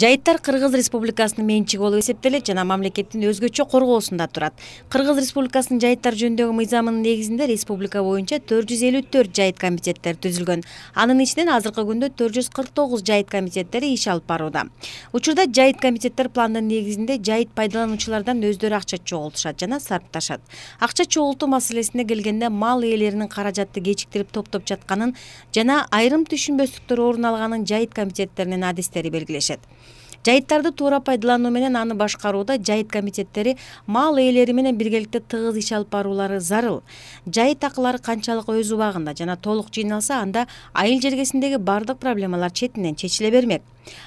Жайыттар Кыргыз Республикасынын менчиги болуп эсептелет жана мамлекеттин өзгөчө коргоосунда турат. Кыргыз Республикасынын жайыттар жөнүндөгү мыйзамынын негизинде республика боюнча 454 жайыт комитеттери түзүлгөн. Анын ичинен азыркы күндө 449 жайыт комитеттери иш алып барууда. Учурда жайыт комитеттер пландын негизинде жайыт пайдалануучулардан өздөрү акча чогултушат жана сарпташат. Акча чогултуу маселесине келгенде мал ээлеринин каражатты кечиктирип топтоп жатканын жана айрым түшүнбөстүктөр орун алганын жайыт комитеттеринин адистери белгилешет. Жайыттарды туура пайдалануу менен аны башкарууда жайыт комитеттери мал ээлери менен биргеликте тыгыз иш алып баруулары зарыл. Жайыт акылары канчалык өз убагында жана толук жыйналса, анда айыл жергесиндеги бардык проблемалар четинен чечиле бермек.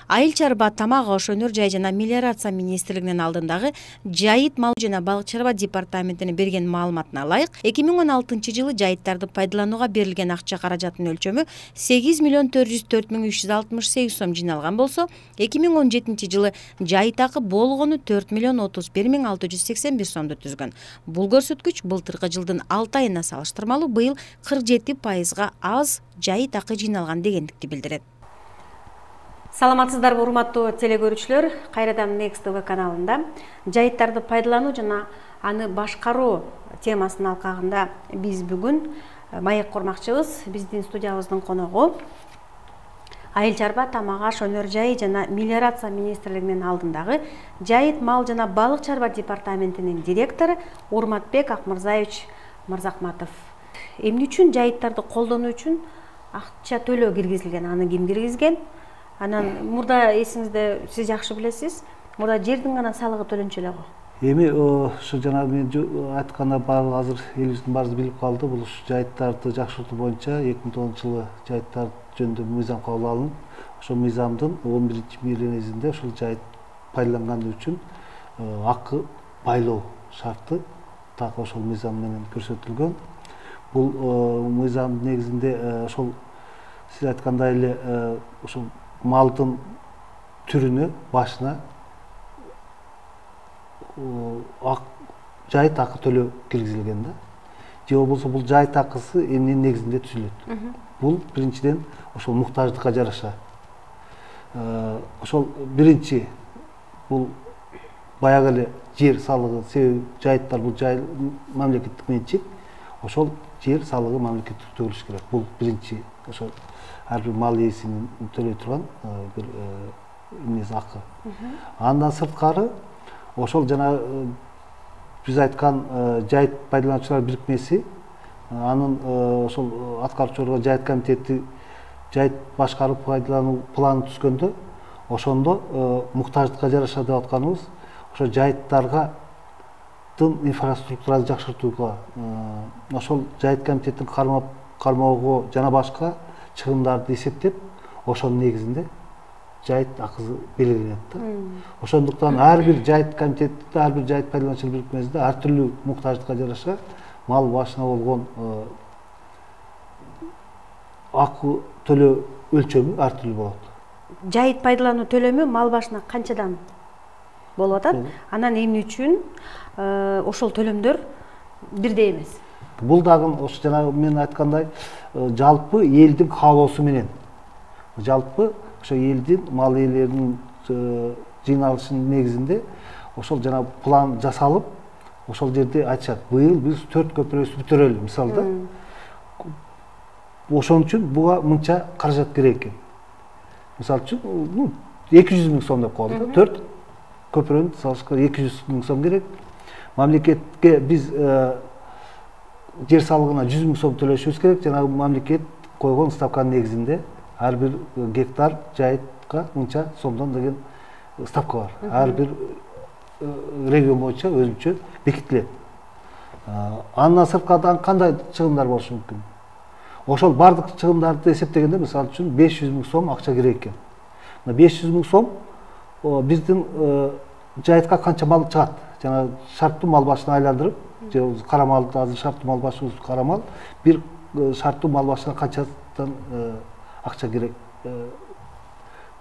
Айыл чарба, тамак аш, өнөр жай жана мелиорация министрлигинин алдындагы жайыт мал жана балык чарба департаментине берген маалыматына ылайык, 2016-жылы жайыттарды пайдаланууга берилген акча каражатынын өлчөмү 8.404.368 сом жыйналган болсо, 2017-жылы жайыт акы болгону 4.031.681 сомду түзгөн. Бул көрсөткүч былтыркы жылдын 6 айына салыштырмалуу быйыл 47%га аз жайыт акы жыйналган дегендикти билдирет. Саламатсыздарбы урматтуу телекөрүүчүлөр, кайрадан Next TV каналында жайыттарды пайдалануу жана аны башкаруу темасынын алкагында биз бүгүн маек курмакчыбыз. Биздин студиябыздын коногу айыл чарба, тамак аш, өнөр жай жана мелиорация министрлигинин алдындагы жайыт мал жана балык чарба департаментинин директору Урматбек Акмырзаевич Мырзахматов. Эмне үчүн жайыттарды колдонуу үчүн акча төлөө киргизилген, аны ким киргизген? Анан мурда эсиңизде, сиз жакшы билесиз, мурда жердин гана салыгы төлөнчү эле го. Эми ушу жана мен айтканда баары азыр элибиздин баары билип калды. Бул жайыттарды жакшыртуу боюнча 2010-жылы жайыттар жөнүндө мыйзам кабыл алынып, ошол мыйзамдын 11-миленесинде ушул жайыт пайдаланганы үчүн акы байлоо шарты так ошол мыйзам менен көрсөтүлгөн. Бул мыйзамдын негизинде ошол сиз айткандай эле ошол малдын түрүнө, башына жайыт акы төлөө киргизилген да. Же болбосо бул жайыт акысы эмненин негизинде түзүлөт? Бул биринчиден ошол муктаждыкка жараша. Ошол биринчи бул баягы эле жер салыгы, себеби жайыттар бул мамлекеттик менчик. Ошол жер салыгы мамлекеттик төлөш керек. Бул биринчи ошол ар бир мал ээсинин төлөй турган бир эмнеси акы. Андан сырткары ошол жана биз айткан жайыт пайдалануучулар бирикмеси, анын ошол аткаруучу орган жайыт комитети жайыт башкарып пайдалануу планын түзгөндө, ошондо муктаждыкка жараша деп атканыбыз ошо жайыттарга инфраструктураны жакшыртууга, ошол жайыт комитеттин кармоого жана башка чыгымдарды эсептеп, ошонун негизинде жайыт акысы белгиленет да. Ошондуктан ар бир жайыт комитетте, ар бир жайыт пайдалануучулар бирикмесинде ар түрлүү муктаждыкка жараша мал башына болгон акы төлөө өлчөмү ар түрлүү болот. Жайыт пайдалануу төлөмү мал башына канчадан болуп атат? Анан эмне үчүн ошол төлөмдөр бирдей эмес? Бул дагы ошо жана мен айткандай жалпы элдин каалоосу менен, жалпы ошо элдин мал ээлеринин жыйналышынын негизинде ошол жана план жасалып, ошол жерде айтышат, быйыл биз 4 көпүрөбүздү бүтүрөлү, мисалда. Ошон үчүн буга мынча каражат керек экен. Мисалы үчүн 200 000 сом деп коелу да. 4 көпүрөнү салышка 200 000 сом керек. Мамлекетке биз жер салыгына 100 000 сом төлөшүбүз керек. Жана мамлекет койгон ставканын негизинде ар бир гектар жайытка мынча сомдон деген ставка бар. Ар бир регион боюнча өзүнчө бекитилет. Андан сырткары кандай чыгымдар болушу мүмкүн? Ошол бардык чыгымдарды эсептегенде, мисалы үчүн 500 000 сом акча керек экен. 500 000 сом биздин жайытка канча мал чыгат? Жана шарттуу мал башына айландырып, же кара малды азыр шарттуу мал башыбыз кара мал, бир шарттуу мал башына канчадан акча керек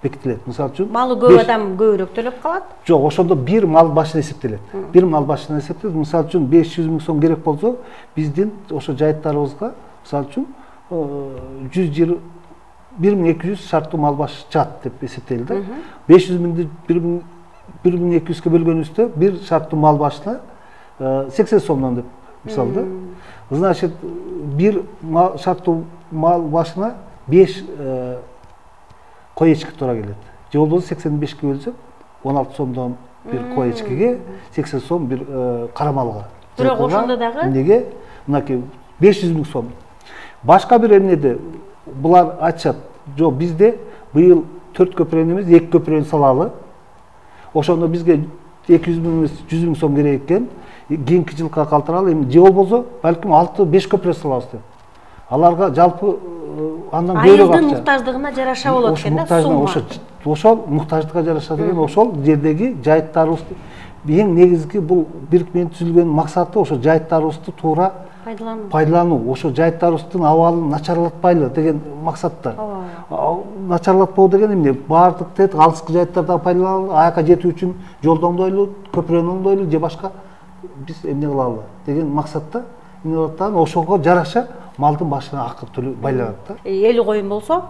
бекитилет. Мисалы үчүн малы көп адам көбүрөөк төлөп калат? Жок, ошондо бир мал башына эсептелет. Бир мал башына эсептелет. Мисалы үчүн 500 000 сом керек болсо, биздин ошо жайыттарыбызга мисалы үчүн 100 жыл 1200 шарттуу мал баш жат деп эсептелди. 500 миңди 1200ге бөлгөнүбүздө бир шарттуу мал башына 80 сомдон деп мисалда. Значит, бир шарттуу мал башына 5 кой эчки туура келет. Же болбосо 85ке бөлсөк 16 сомдон бир кой эчкиге 80 сом бир кара малга. Бирок ошондо дагы эмнеге мынакей 500 миң сом. Башка бир эмнеде булар айтышат, жок бизде быйыл 4 көпүрөнү эмес 2 көпүрөнү салалы. Ошондо бизге 200 миң эмес 100 миң сом керек экен. Кийинки жылга калтыралы, эми же болбосо балким 6-5 көпүрө салабыз деп. Аларга жалпы андан көбүрөөк акча. Айылдын муктаждыгына жараша болот экен да, сумма. Ошол муктаждыкка жараша деген ошол жердеги жайыттарыбызды эң негизги бул бирикменин түзүлгөн максаты ошо жайыттарыбызды туура пайдалануу, ошо жайыттарыбыздын абалын начарлатпайлы деген максатта. Начарлатпоо деген эмне? Баардык тет алыскы жайыттардан пайдаланалы, аяка жетүү үчүн жолду оңдойлу, көпүрөнү оңдойлу же башка биз эмне кылалы деген максатта ошого жараша малдын башына акы төлөп байланат да. 50 коюн болсо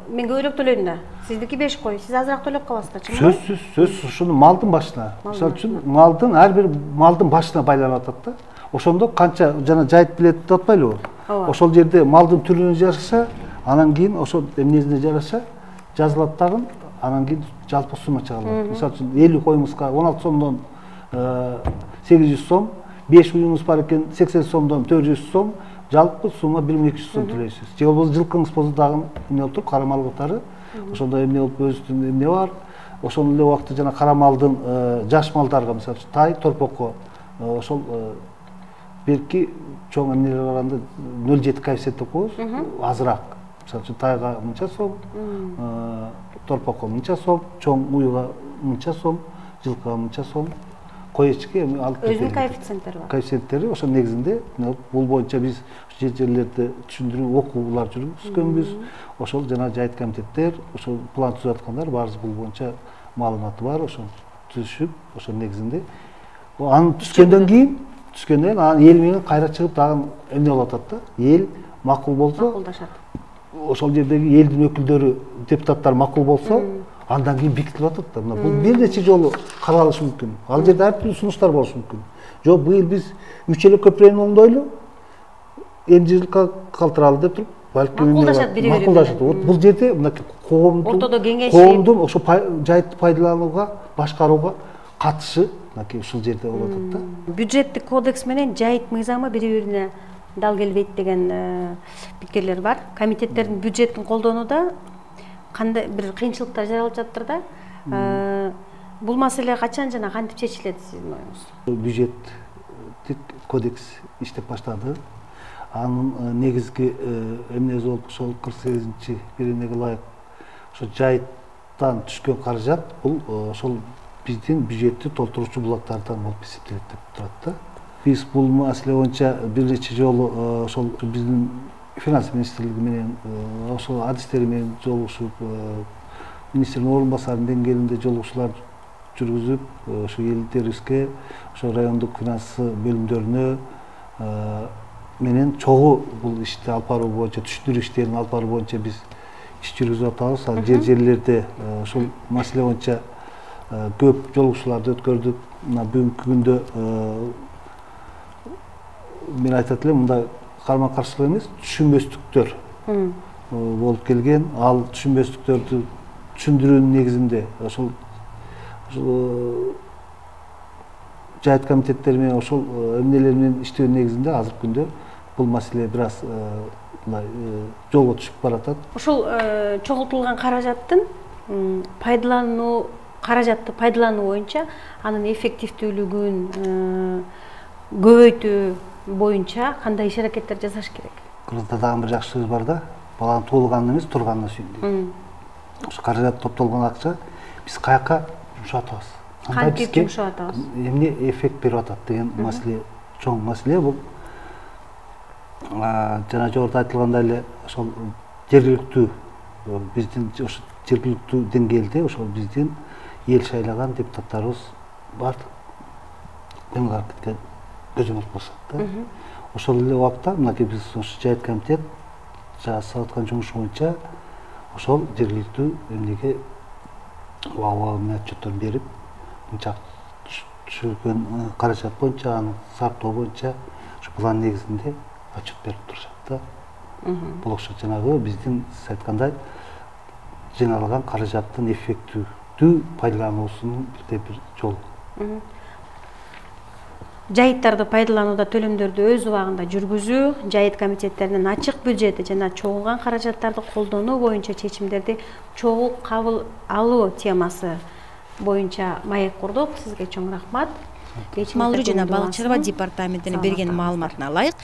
мен көбүрөөк төлөйм да. Сиздики 5 кой, сиз азыраак төлөп каласыздар, чынбы? Сөзсүз ушуну малдын башына. Мисалы үчүн малдын ар бир малдын башына байланып атат да. Ошондо канча жана жайыт билет деп атпайлыбы? Ошол жерде малдын түрүнө жараша, анан кийин ошол эмнесине жараша жазылат дагы, анан кийин жалпы сумма чыгарылат. Мисалы үчүн 50 коюңузга 16 сомдон 800 сом, 5 уюңуз бар экен 80 сомдон 400 сом, жалпы сумма 1200 сом төлөйсүз. Же болбосо жылкыңыз болсо дагы эмне болуп тур, кара мал катары. Ошондо эмне болуп өзүнүн эмне бар. Ошол эле убакта жана кара малдын жаш малдарга, мисалы тай, торпокко ошол белки чоң эмнелер барганда 0,7 коэффициент деп коебуз, азыраак. Мисалы үчүн тайга мынча сом, торпокко мынча сом, чоң уюга мынча сом, жылкыга мынча сом. Кой эчки алып өзүнүн коэффициенттери бар. Коэффициенттери ошол негизинде бул боюнча биз жерлерде түшүндүрүү окуулар жүргүзгөнбүз. Ошол жана жайыт комитеттер, ошол план түзүп аткандар баарыбыз бул боюнча маалыматы бар, ошол түзүшүп, ошол негизинде анын түшкөндөн кийин анан эл менен кайра чыгып дагы эмне болуп атат да. Эл макул болсо, макулдашат. Ошол жердеги элдин өкүлдөрү, депутаттар макул болсо, андан кийин бекитилип атат да. Бул бир нече жолу каралышы мүмкүн. Ал жерде ар түрдүү сунуштар болушу мүмкүн. Жок, быйыл биз 3 эле көпүрөнү оңдойлу, эмне жылга калтыралы деп туруп, балким макулдашат бири-бири. Макулдашат. Бул жерде мынакей ортодо кеңешип, коомдун ошо жайытты пайдаланууга, башкарууга катышы мынакей ушул жерде болуп атат да. Бюджеттик кодекс менен жайыт мыйзамы бири-бирине дал келбейт деген пикирлер бар. Комитеттердин бюджеттин колдонууда кандай бир кыйынчылыктар жаралып жатыр да. Бул маселе качан жана кантип чечилет сиздин оюңуз? Бюджеттик кодекс иштеп баштады. Анын негизги эмнеси болуп ошол 48-чи беренеге ылайык ошо жайыттан түшкөн каражат бул ошол биздин бюджетти толтуруучу булактардан болуп эсептелет деп турат да. Биз бул маселе боюнча бир нече жолу ошол биздин финанс министрлиги менен ошол адистери менен жолугушуп, министрдин орун басарынын деңгээлинде жолугушуулар жүргүзүп, ошо элдерибизге, ошо райондук финанс бөлүмдөрүнө менен чогуу бул ишти алып баруу боюнча, түшүндүрүү иштерин алып баруу боюнча биз иш жүргүзүп атабыз. Ал жерлерде ошол маселе боюнча көп жолугушууларды өткөрдүк. Мына бүгүнкү күндө мен айтат элем, мындай карма-каршылык эмес, түшүнбөстүктөр болуп келген. Ал түшүнбөстүктөрдү түшүндүрүүнүн негизинде ошол жайыт комитеттери менен ошол эмнелер менен иштөө негизинде азыркы күндө бул маселе бир аз мындай жолго түшүп баратат. Ошол чогултулган каражаттын каражатты пайдалануу боюнча анын эффективдүүлүгүн көбөйтүү боюнча кандай иш аракеттер жасаш керек? Кыргызда дагы бир жакшы сөз бар да, баланын туулганына эмес, турганына сүйүн. Ошо каражат топтолгон акча биз каяка жумшап атабыз? Кантип жумшап атабыз? Эмне эффект берип атат деген маселе, чоң маселе бул. Жана жогоруда айтылгандай эле ошол жергиликтүү биздин ошо жергиликтүү деңгээлде ошол биздин эл шайлаган депутаттарыбыз бар. Көңүл аракетке көзөмөл кылышат да. Ошол эле убакта мынакей биз ошо жайыт комитет жасап аткан жумуш боюнча ошол жергиликтүү эмнеге убагы отчетторун берип мынча түшүргөн каражат боюнча аны сарптоо боюнча ушу план негизинде отчет берип турушат да. Бул окшойт жанагы биздин сиз айткандай жыйналган каражаттын эффективдүү пайдалануусунун бирден бир жолу. Жайыттарды пайдаланууда төлөмдөрдү өз убагында жүргүзүү, жайыт комитеттеринин ачык бюджети жана чогулган каражаттарды колдонуу боюнча чечимдерди чогуу кабыл алуу темасы боюнча маек курдук. Сизге чоң рахмат. Малуу Малуу жана жана балык чарба департаментинин берген маалыматына ылайык,